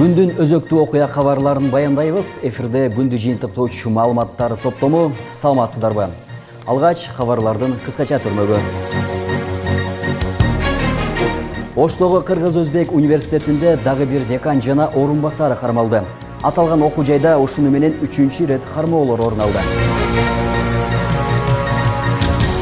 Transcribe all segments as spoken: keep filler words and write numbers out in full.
Күндүн өзөктүү окуя кабарларын баяндайбыз. Эфирде күндү жыйынтыктоочу маалыматтар топтому. Саламатсыздарбы? Алгач кабарлардын кыскача түрмөгү. Оштогу Кыргыз-Өзбек университетинде дагы бир декан жана орун басары кармалды. Аталган окуу жайда ушуну менен үчүнчү ирет кармоолор орун алды.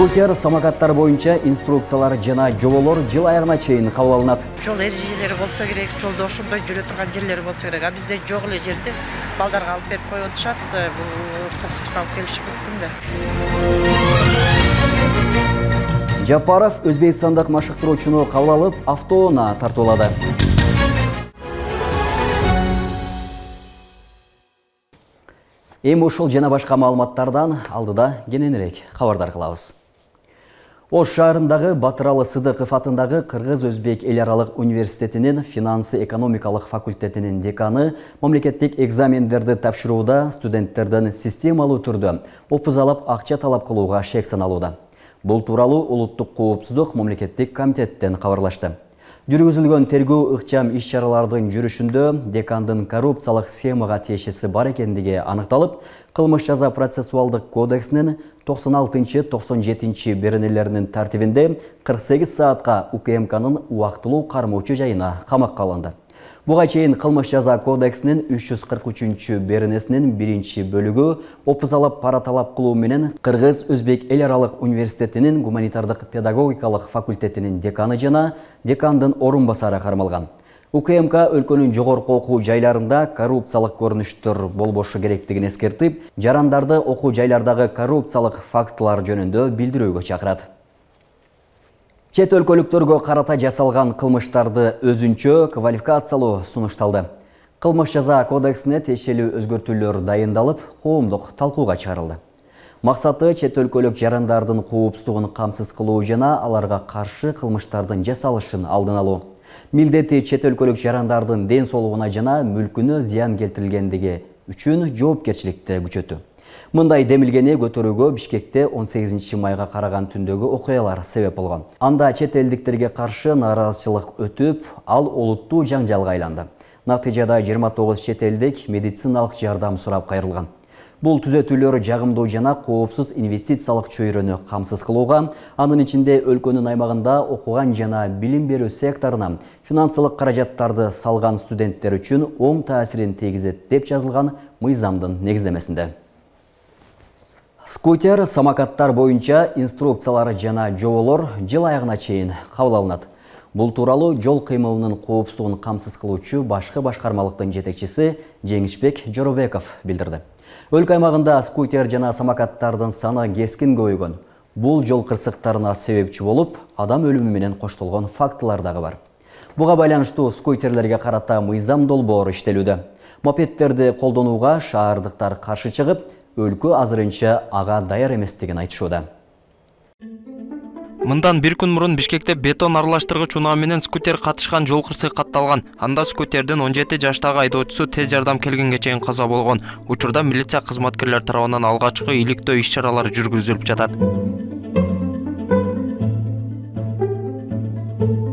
Скутер самокаттар боюнча инструкциялар жана жоболор жыл аягына чейин кабыл алынат. Жол эрежелери болсо керек, жолдо ошондой жүрө турган жерлер болсо керек. А бизде жок эле жерде балдарга алып берип коюп атышат. Бул кырсыкка алып келиши мүмкүн да. Жапаров өзбекстандык машыктыруучуну кабыл алып, автоунаа тартуулады. Эми ушул жана башка маалыматтардан алдыда кененирээк кабардар кылабыз. Ош шаарындагы Батыралы Сыдыков атындагы Кыргыз-Өзбек эл аралык университетинин финансы-экономикалык факультетинин деканы мамлекеттик экзамендерди тапшырууда студенттерден системалуу түрдө опуз алып акча талап кылууга шек саналууда. Бул тууралуу Улуттук коопсуздук мамлекеттик комитеттен кабарлашты. Жүргүзүлгөн тергөө ыкчам иш-чаралардын жүрүшүндө декандын коррупциялык схемага тиешеси бар экендиги аныкталып, кылмыш жаза процессуалдык кодексинин токсон алтынчы токсон жетинчи беренелеринин тартибинде кырк сегиз саатка УКМКнын убактылуу кармоочу жайына камакка алынды. Буга чейин кылмыш жаза кодексинин үч жүз кырк үчүнчү беренесинин биринчи бөлүгү опуз алып пара талап кылуу менен Кыргыз-Өзбек эл аралык университетинин гуманитардык педагогикалык факультетинин деканы жана декандын орун басары кармалган. УКМК өлкөнүн жогорку окуу жайларында коррупциялык көрүнүштөр болбошу керектигин эскертип, жарандарды окуу жайлардагы коррупциялык фактылар жөнүндө билдирүүгө чакырат. Чет өлкөлүктөргө карата жасалган кылмыштарды өзүнчө квалификациялоо сунушталды. Кылмыш жаза кодексине тиешелүү өзгөртүүлөр дайындалып, коомдук талкууга чыгарылды. Максаты чет өлкөлүк жарандардын коопсуздугун камсыз кылуу жана аларга каршы кылмыштардын жасалышын алдын алуу. Милдети чет өлкөлүк жарандардын ден соолугуна жана мүлкүнө зыян келтирилгендиги үчүн жоопкерчиликти күчөтүү. Мындай демилгени көтөрүүгө Бишкекте он сегизинчи майга караган түндөгү окуялар себеп болгон. Анда чет элдиктерге каршы нааразычылык өтүп, ал олуттуу жаңжалга айланды. Натыйжада жыйырма тогуз чет элдик медициналык жардам сурап кайрылган. Бул түзөтүүлөр жагымдуу жана коопсуз инвестициялык чөйрөнү камсыз кылууга, анын ичинде өлкөнүн аймагында окуган жана билим берүү секторуна финансылык каражаттарды салган студенттер үчүн оң таасирин тийгизет деп жазылган мыйзамдын негиздемесинде. Скутер самокаттар боюнча инструкциялар жана жоболор жыл аягына чейин кабыл алынат. Бул тууралуу жол кыймылынын коопсуздугун камсыз кылуучу башкы башкармалыктын жетекчиси Жеңишбек Жоробеков билдирди. Өлкө аймагында скутер жана самокаттардын саны кескин көбөйгөн. Бул жол кырсыктарына себепчи болуп, адам өлүмү менен коштолгон фактылар дагы бар. Буга байланыштуу скутерлерге карата мыйзам долбоор иштелүүдө. Мопедтерди колдонууга шаардыктар каршы чыгып, өлкө азырынча ага даяр эместигин айтышууда. Мындан бир күн мурун Бишкекте бетон аралаштыргыч унаа менен скутер катышкан жол кырсыгы катталган. Анда скутердин он жети жаштагы айдоочусу тез жардам келгенге чейин каза болгон. Учурда милиция кызматкерлери тарабынан алгачкы иликтөө иш-чаралары жүргүзүлүп жатат.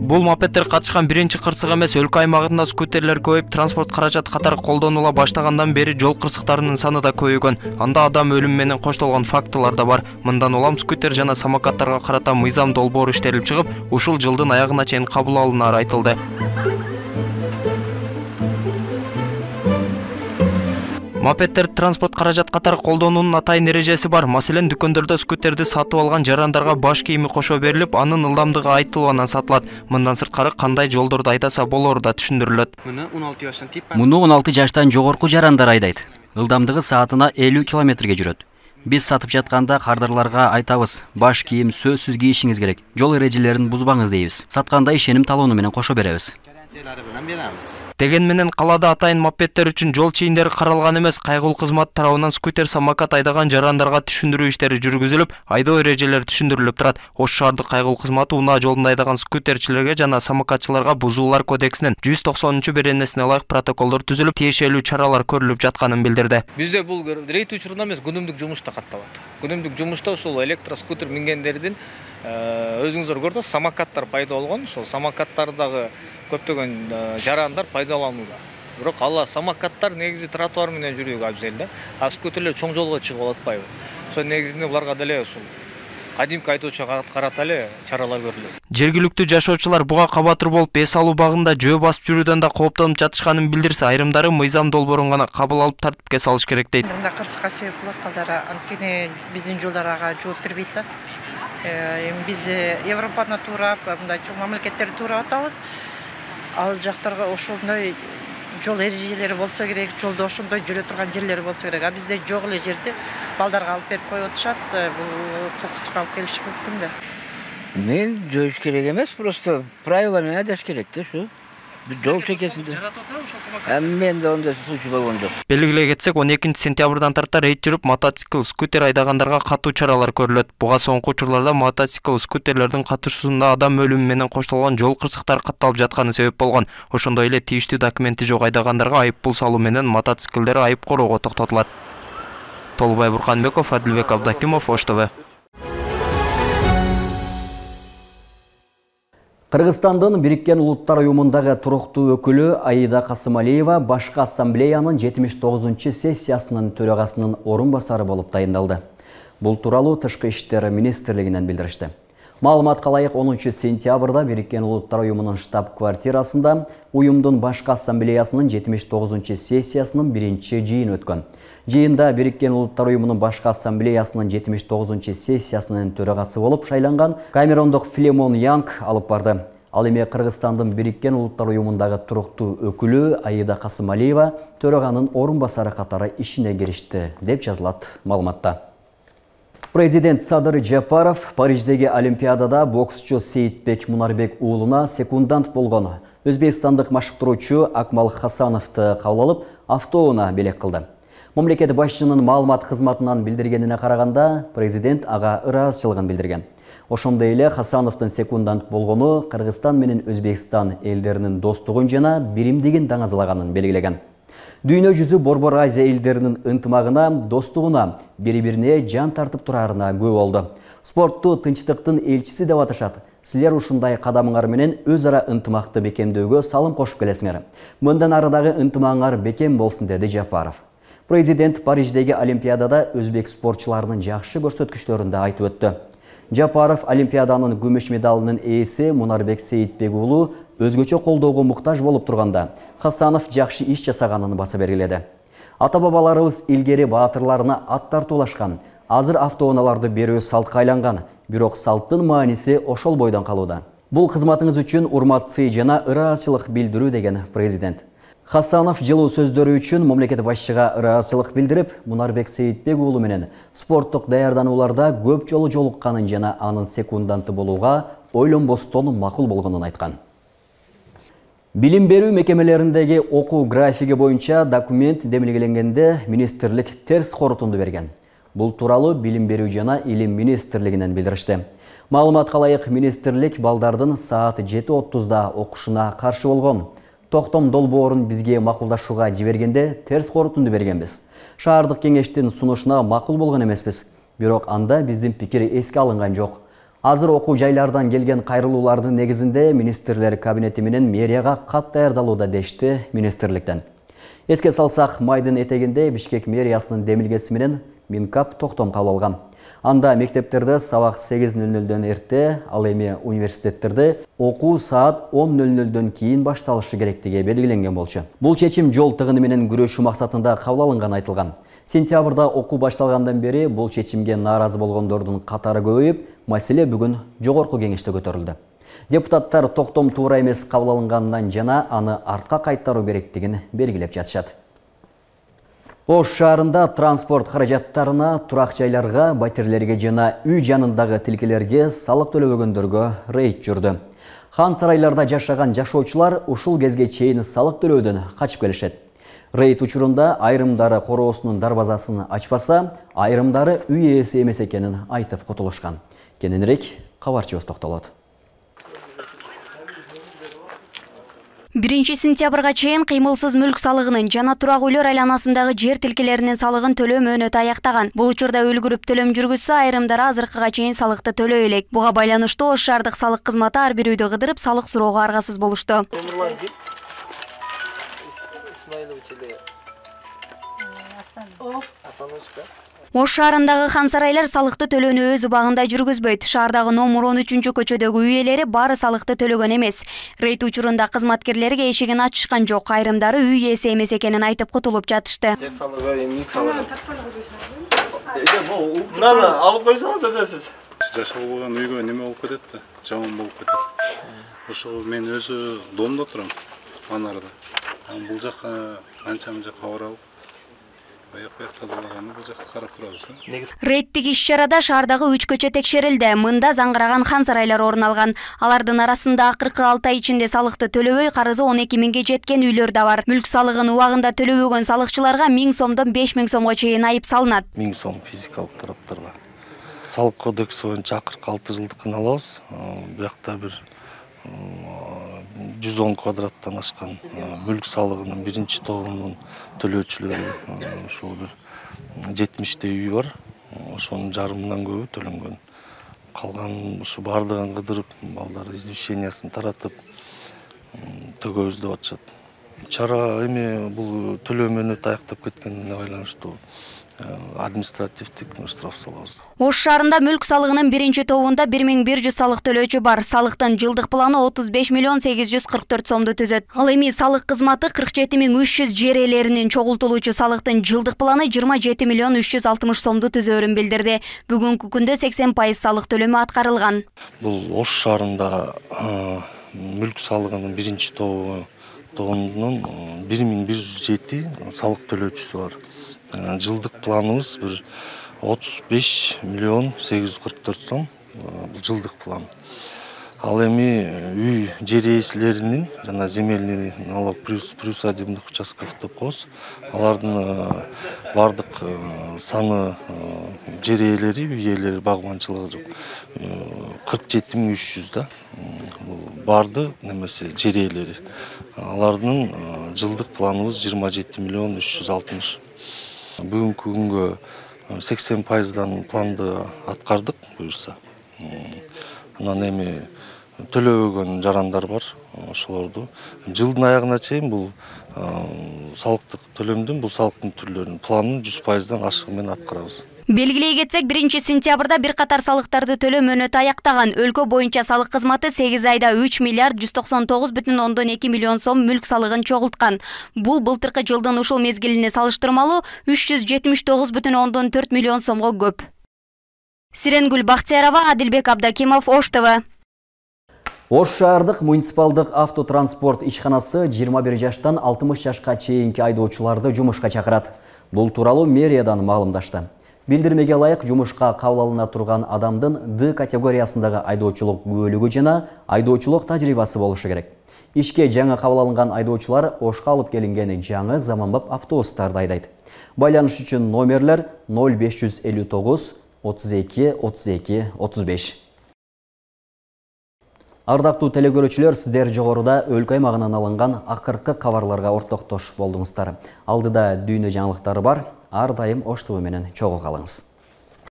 Бул мопедтер катышкан биринчи кырсык эмес. Өлкө аймагында скутерлер көбөйүп, транспорт каражат катары колдонула баштагандан бери жол кырсыктарынын саны да көбөйгөн. Анда адам өлүмү менен коштолгон фактылар да бар. Мындан улам скутер жана самокаттарга карата мыйзам долбоор иштелип чыгып, ушул жылдын аягына чейин кабыл алынары айтылды. Мопедтер транспорт каражат катары колдонуунун атайын эрежеси бар. Маселен, дүкөндөрдө скутерди сатып алган жарандарга баш кийими кошо берилип, анын ылдамдыгы айтылууынан сатылат. Мындан сырткары кандай жолдорду айдаса болору да түшүндүрүлөт. Муну он алты жаштан жогорку жарандар айдайт. Ылдамдыгы саатына элүү километрге жүрөт. Биз сатып жатканда кардарларга айтабыз, баш кийим сөзсүз кийишиңиз керек. Жол эрежелерин бузбаңыз дейбиз. Сатканда ишеним талоону менен кошо беребиз. Деген менен калаада атайын мопедтер үчүн жол чийиндери каралган эмес. Кайгылуу кызмат тарабынан скутер самокат айдаган жарандарга түшүндүрүү иштери жүргүзүлүп, айдоо эрежелери түшүндүрүлүп турат. Ош шаардык кайгылуу кызматы унаа жолунда айдаган скутерчилерге жана самокатчыларга бузуулар кодексинин жүз токсонунчу беренесине ылайык протоколдор түзүлүп, тиешелүү чаралар көрүлүп жатканын билдирди. Бизде бул рейд учурунда эмес, күнүмдүк жумушта катталат. Күнүмдүк жумушта ушул электроскутер мингендердин өзүңүздөр көрдүңүз, самокаттар пайда болгон. Ошол самокаттардагы көптөгөн жарандар пайдаланууда. Бирок ал самокаттар негизи тротуар менен жүрүүгө абзел да. А скутерлер чоң жолго чыгып атпайбы? Ошол негизинде буларга деле ушул кадимки айтуучуга карата эле чаралар көрүлөт. Жергиликтүү жашоочулар буга кабатыр болуп эс алуу багында жөө басып жүрүүдөн да кооптонуп жатышканын билдирсе, айрымдары мыйзам долбоорун гана кабыл алып тартипке салыш керек дейт. Мында кырсыкка себеп болот балдар, анткени биздин жолдор ага жооп бербейт да. Эми биз Европаны туурап, мындай чоң мамлекеттерди туурап атабыз. Ал жактарга ошондой жол эрежелери болсо керек, жолдо ошондой жүрө турган жерлери болсо керек. А бизде жок эле жерди балдарга алып берип коюп атышат. Бул кокустукка алып келиши мүмкүн да. Мен жоош керек эмес, просто правила менен айдаш керек да, ушу. Жол чекесинде. Жаратып атабы ошол самокат? Мен да ондай случай болгон жок. Белгилей кетсек, он экинчи сентябрдан тарта рейд жүрүп, мотоцикл, скутер айдагандарга катуу чаралар көрүлөт. Буга соңку учурларда мотоцикл, скутерлердин катышуусунда адам өлүмү менен коштолгон жол кырсыктары катталып жатканы себеп болгон. Ошондой эле тийиштүү документи жок айдагандарга айып пул салуу менен мотоциклдер айып короого токтотулат. Толбай Бурканбеков, Адилбек Абдакимов, Ош ТВ. Кыргызстандын Бириккен Улуттар уюмундагы туруктуу өкүлү Аида Касымалиева башкы ассамблеянын жетимиш тогузунчу сессиясынын төрагасынын орун басары болуп тайындалды. Бул тууралуу Тышкы иштер министрлигинен билдиришти. Маалыматка ылайык онунчу сентябрда Бириккен Улуттар уюмунун штаб-квартирасында уюмдун башкы ассамблеясынын жетимиш тогузунчу сессиясынын биринчи жыйыны өткөн. Жыйында Бириккен Улуттар уюмунун башкы ассамблеясынын жетимиш тогузунчу сессиясынын төрагасы болуп шайланган Камерондук Филимон Янг алып барды. Ал эми Кыргызстандын Бириккен Улуттар уюмундагы туруктуу өкүлү Аида Касымалиева төраганын орун басары катары ишине киришти, деп жазылат маалыматта. Президент Садыр Жапаров Париждеги Олимпиадада боксчу Сейитбек Мунарбек уулуна секундант болгон өзбекстандык машыктыруучу Акмал Хасановду кабыл алып, автоунаа белек кылды. Мамлекет башчынын маалымат кызматынан билдиргенине караганда, президент ага ыраазычылыгын билдирген. Ошондой эле Хасановдун секундант болгону Кыргызстан менен Өзбекстан элдеринин достугун жана биримдигин даңазалаганын белгилеген. Дүйнө жүзү Борбор Азия элдеринин ынтымагына, достугуна, бири-бирине жан тартып турарына күбө болду. Спортту тынчтыктын элчиси деп аташат. Силер ушундай кадамыңар менен өз ара ынтымакты бекемдөөгө салым кошуп келесиңер. Мындан арадагы ынтымагыңар бекем болсун, деди Жапаров. Президент Париждеги Олимпиадада өзбек спортчуларынын жакшы көрсөткүчтөрүн да айтып өттү. Жапаров Олимпиаданын күмүш медалынын ээси Мунарбек Сейитбек уулу өзгөчө колдоого муктаж болуп турганда, Хасанов жакшы иш жасаганын баса бергиледи. Ата-бабаларыбыз илгери баатырларына ат тартуулашкан, азыр автоунааларды берүү салтка айланган, бирок салттын мааниси ошол бойдон калууда. Бул кызматыңыз үчүн урмат сый жана ыраазычылык билдирүү, деген президент. Хасанов жылуу сөздөрү үчүн мамлекет башчыга ыраазычылык билдирип, Мунарбек Сейитбек уулу менен спорттук даярданууларда көп жолу жолукканын жана анын секунданты болууга ойлонбостон макул болгонун айткан. Билим берүү мекемелериндеги окуу графиги боюнча документ демилгеленгенде министрлик терс корутунду берген. Бул тууралуу Билим берүү жана илим министрлигинен билдиришти. Маалыматка ылайык, министрлик балдардын саат жети отузда окушуна каршы болгон. Токтом долбоорун бизге макулдашууга жибергенде терс корутунду бергенбиз. Шаардык кеңештин сунушуна макул болгон эмеспиз. Бирок анда биздин пикир эске алынган жок. Азыр окуу жайлардан келген кайрылуулардын негизинде министрлер кабинети менен мэрияга кат даярдалууда, дешти министрликтен. Эске салсак, майдын этегинде Бишкек мэриясынын демилгеси менен Минкап токтом кабыл алган. Анда мектептерде сабак сегиз нөл нөлдөн эрте, ал эми университеттерде окуу саат он нөл нөлдөн кийин башталышы керектиги белгиленген болчу. Бул чечим жол тыгыны менен күрөшүү максатында кабыл алынган айтылган. Сентябрда окуу башталгандан бери бул чечимге нааразы болгондордун катары көбөйүп, маселе бүгүн жогорку кеңеште көтөрүлдү. Депутаттар токтом туура эмес кабыл алынганынан жана аны артка кайтаруу керектигин белгилеп жатышат. Ош шаарында транспорт каражаттарына, турак жайларга, батирлерге жана үй жанындагы тилкелерге салык төлөбөгөндөргө рейд жүрдү. Хан сарайларда жашаган жашоочулар ушул кезге чейин салык төлөөдөн качып келишет. Рейд учурунда айрымдары короосунун дарбазасын ачпаса, айрымдары үй ээси эмес экенин айтып кутулушкан. Кененирээк кабарчыбыз токтолот. биринчи сентябрга чейин кыймылсыз мүлк салыгынын жана турак үйлөр айланасындагы жер тилкелеринин салыгын төлөө мөөнөтү аяктаган. Бул учурда үлгүрүп төлөм жүргүзсө, айрымдары азыркыга чейин салыкты төлөй элек. Буга байланыштуу Ош шаардык салык кызматы ар бир үйдү кыдырып салык суроого аргасыз болушту. Исмаилович или Асанович да? Ош шаарындагы хан сарайлар салыкты төлөөнү өз убагында жүргүзбөйт. Шаардагы номер он үчүнчү көчөдөгү үй ээлери баары салыкты төлөгөн эмес. Рейд учурунда кызматкерлерге эшигин ачышкан жок. Айрымдары үй ээси эмес экенин айтып кутулуп жатышты. Жер салыгы эмне салыгы? Мынаны алып койсоңуз өтөсүз. Жашалган үйгө неме болуп кетет да, жаман болуп кетет. Ошо мен өзү домдо турам, анарда. Бул жака анча-мынча кабар алып, аяк-аяк тазалаганды бул жакта карап турабыз да. Рейдтик иш-чарада шаардагы үч көчө текшерилди. Мында заңгыраган хан сарайлар орун алган. Алардын арасында акыркы алты ай ичинде салыкты төлөбөй карызы он эки миңге жеткен үйлөр да бар. Мүлк салыгын убагында төлөбөгөн салыкчыларга миң сомдон беш миң сомго чейин айып салынат. миң сом физикалык тараптарга. Салык кодекси боюнча акыркы алты жылдыкын алабыз. Буякта бир жүз он квадраттан ашкан мүлк салыгынын биринчи тобунун төлөөчүлөрү ушул бир жетимиштей үй бар. Ошонун жарымынан көбү төлөнгөн. Калган ушу бардыгын кыдырып, балдар извещениясын таратып төгөбүз деп атышат. Чара эми бул төлөө мөөнөтү аяктап кеткенине байланыштуу административдик штраф салабыз. Ош шаарында мүлк салыгынын биринчи тобунда бир миң бир жүз салык төлөөчү бар. Салыктын жылдык планы отуз беш миллион сегиз жүз кырк төрт сомду түзөт. Ал эми салык кызматы кырк жети миң үч жүз жер ээлеринин чогултулуучу салыктын жылдык планы жыйырма жети миллион үч жүз алтымыш сомду түзөөрүн билдирди. Бүгүнкү күндө сексен пайыз салык төлөмү аткарылган. Бул Ош шаарында мүлк салыгынын биринчи тобу тобунун бир миң бир жүз жети салык төлөөчүсү бар. Жылдык планыбыз бир отуз беш миллион сегиз жүз кырк төрт сом, бул жылдык план. Ал эми үй жер ээсилеринин жана земельный налог приусадебных участков деп коебуз. Алардын бардык саны жер ээлери, үй ээлери багманчылыгы жок. кырк жети миң үч жүз да. Бул барды немесе жер ээлери. Алардын жылдык планыбыз жыйырма жети миллион үч жүз алтымыш. Бүгүнкү күнгө сексен пайыздан планды аткардык буюрса. Анан эми төлөбөгөн жарандар бар, ошолорду жылдын аягына чейин бул салыктык төлөмдүн, бул салыктын түрлөрүнүн планын жүз пайыздан ашыгы менен аткарабыз. Белгилей кетсек, биринчи сентябрда бир катар салыктарды төлөө мөөнөтү аяктаган. Өлкө боюнча салык кызматы сегиз айда үч миллиард жүз токсон тогуз бүтүн ондон эки миллион сом мүлк салыгын чогулткан. Бул былтыркы жылдын ушул мезгилине салыштырмалуу үч жүз жетимиш тогуз бүтүн ондон төрт миллион сомго көп. Сиренгүл Бактиярова, Адилбек Абдакимов, Ош ТВ. Ош шаардык муниципалдык автотранспорт ишканасы жыйырма бир жаштан алтымыш жашка чейинки айдоочуларды жумушка чакырат. Бул тууралуу мэриядан маалымдашты. Билдирмеге ылайык жумушка кабыл алына турган адамдын Д категориясындагы айдоочулук күбөлүгү жана айдоочулук тажрыйбасы болушу керек. Ишке жаңы кабыл алынган айдоочулар Ошко алып келинген жаңы заманбап автобустарды айдайт. Байланыш үчүн номерлер ноль беш жүз элүү тогуз отуз эки отуз эки отуз беш. Ардактуу телекөрүүчүлөр, сиздер жогоруда өлкө аймагынан алынган акыркы кабарларга ортоктош болдуңуздар. Алдыда дүйнө жаңылыктары бар. Ар дайым Ош ТВ менен чогуу калыңыз.